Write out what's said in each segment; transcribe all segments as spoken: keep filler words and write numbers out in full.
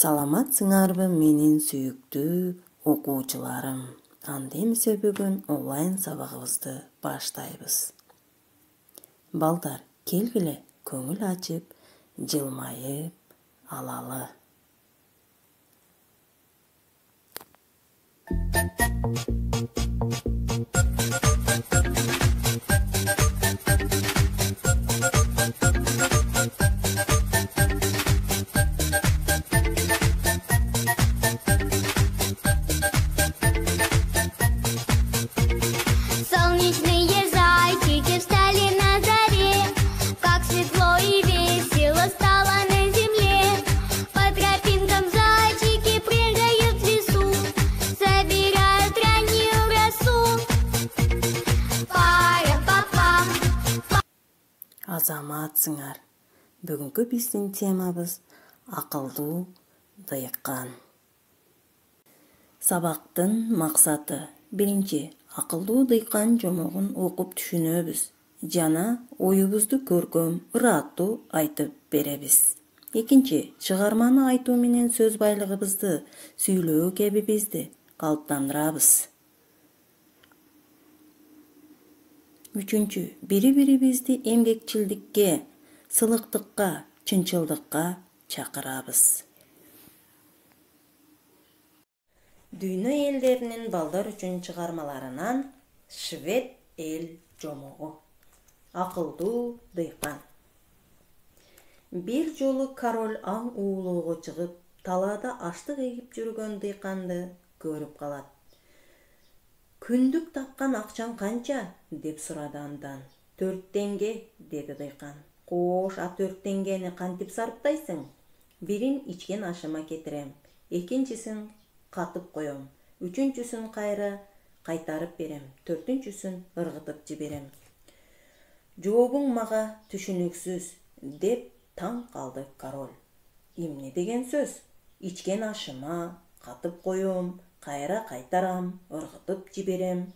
Саламатсыңарбы менин сүйүктүү окуучуларым. Анда эмесе бүгүн онлайн сабагыбызды баштайбыз. Балдар, келгиле көңүл ачып, жылмайып алалы. Солнечные зайчики встали на заре, как светло и весело стало на земле. По тропинкам зайчики прыгают в лесу, собирают раннюю росу. Пара-па-пам. Азаматсыңар. Бүгүнкү биздин темабыз акылдуу дыйкан. Сабактын максаты: биринчи, акылдуу дыйкан жомогун окуп түшүнөбүз жана оюбузду көркөм, ыраттуу айтып беребиз. Экинчи, чыгарманы айтуу менен сөз байлыгыбызды, сүйлөө кебибизди калыптандырабыз. Үчүнчү, бири-бирибизди эмгекчилдикке, сылыктыкка, чынчылдыкка чакырабыз. Дүйнө элдеринин балдар үчүн чыгармаларынан Швед эл жомогу. Акылдуу дыйкан. Бир жолу король аң уулоого чыгып, талаада аштык эгип жүргөн дыйканды көрүп калат. Күндүк тапкан акчаң канча? Деп сурады андан. Төрт теңге, деди дыйкан. Кош, а төрт теңгени кантип сарптайсың? Бирин ичкен ашыма кетирем, экинчисин катып коем, үчүнчүсүн кайра кайтарып берем, төртүнчүсүн ыргытып жиберем. Жообуң мага түшүнүксүз, деп таң калды король. Эмне деген сөз? Ичкен ашыма, катып коем, кайра кайтарам, ыргытып жиберем.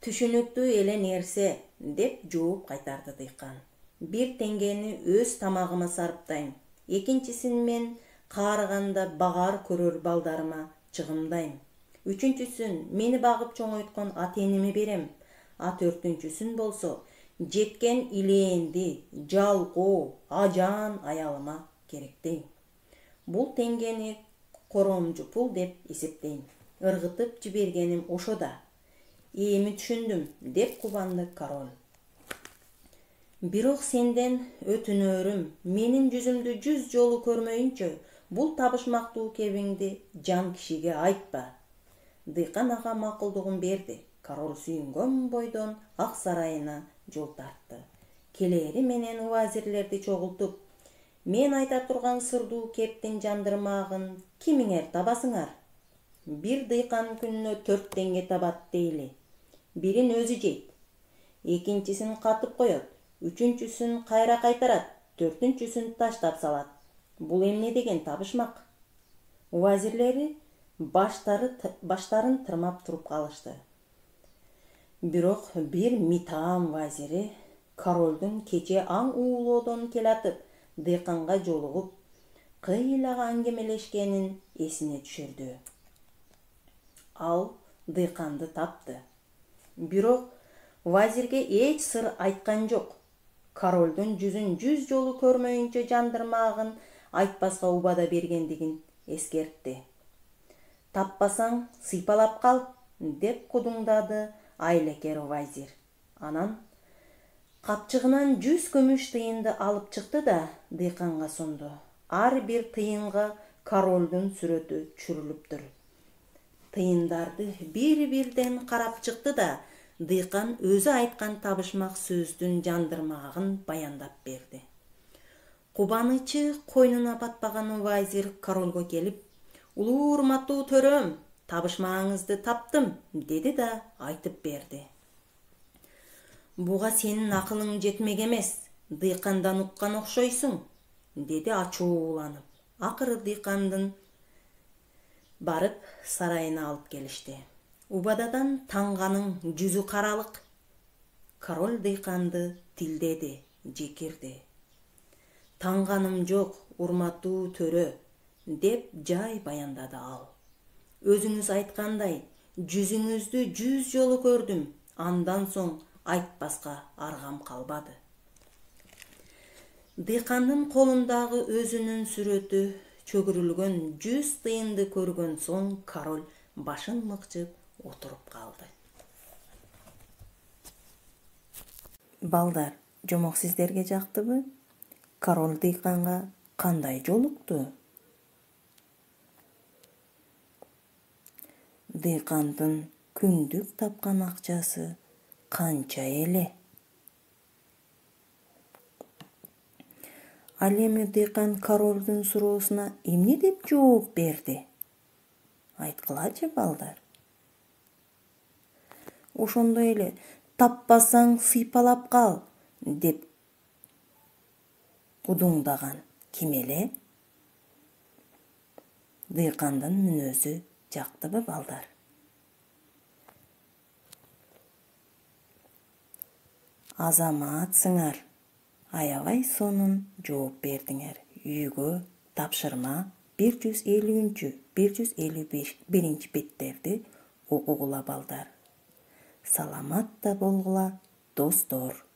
Түшүнүктүү эле нерсе, деп жооп кайтарды дыйкан. Бир теңгени өз тамагыма сарптайм, экинчисин мен каарыганда багар көрөр балдарыма чыгымдайм. Үчүнчүсүн мени багып чоңойткон ата-энеме берем, а төртүнчүсүн болсо жеткен илээнди, жалкоо, ажаан аялыма керектейм. Бул теңгени коромжу пул деп эсептейм. Ыргытып жибергеним ошо да. Эми түшүндүм, деп кубанды король. Бирок сенден өтүнөрүм, менин жүзүмдү жүз жолу көрмөйүнчө, бул табышмактуу кебиңди жан кишиге айтпа. Дыйкан ага макулдугун берди. Король сүйүнгөн бойдон ак сарайына жол тартты. Келери менен убазирлерди чогултуп, мен айта турган сырдуу кептин жандырмагын кимиңер табасыңар? Бир дыйкан күнүнө төрт теңге табат дейли. Бирин өзү жейт, экинчисин катып коет, үчүнчүсүн кайра кайтарат, төртүнчүсүн таштап салат. Бул эмне деген табышмак? Убазирлери баштары баштарын тырмап туруп калышты. Бирок бир Митаам вазири королдун кече аң уулоодон келатып, дыйканга жолугуп, кыйлага аңгемелешкенин эсине түшүрдү. Ал дыйканды тапты. Бирок вазирге эч сыр айткан жок. Королдун жүзүн жүз жолу көрмөйүнчө жандырмагын айтпаска убада бергендигин эскертти. Таппасаң сыйпалап кал, деп кудуңдады айлакер вазир. Анан капчыгынан жүз күмүш тыйынды алып чыкты да дыйканга сунду. Ар бир тыйынга королдун сүрөтү түшүрүлүптүр. Тыйындарды бир-бирден карап чыкты да дыйкан өзү айткан табышмак сөздүн жандырмагын баяндап берди. Кубанычы койнуна батпаган вазир королго келип, улуу урматтуу төрөм, табышмагыңызды таптым, деди да айтып берди. Буга сенин акылың жетмек эмес, дыйкандан уккан окшойсуң, деди ачууланып. Акыры дыйкандын барып сарайына алып келишти. Убададан таңганын жүзү каралык. Король дыйканды тилдеди, жекирди. Таңганым жок, урматтуу төрө. деп жай баяндады ал. Өзүңүз айткандай, жүзүңүздү жүз жолу көрдүм. Андан соң айтпаска аргам калбады. Дыйкандын колундагы өзүнүн сүрөтү чөгүрүлгөн жүз тыйынды көргөн соң король башын мыкчып отуруп калды. Балдар, жомок сиздерге жактыбы? Король дыйканга кандай жолукту? Дыйкандын күндүк тапкан акчасы канча эле? Ал эми дыйкан королдун суроосуна эмне деп жооп берди? Айткылачы, балдар. Ошондой эле таппасаң сыйпалап кал деп удуңдаган ким эле? Дыйкандын мүнөзү жактыбы, балдар? Азаматсыңар, аябай сонун жооп бердиңер. Үйгө тапшырма бир жүз элүүнчү, бир жүз элүү биринчи беттерди окугула, балдар. Саламатта болгула, достор.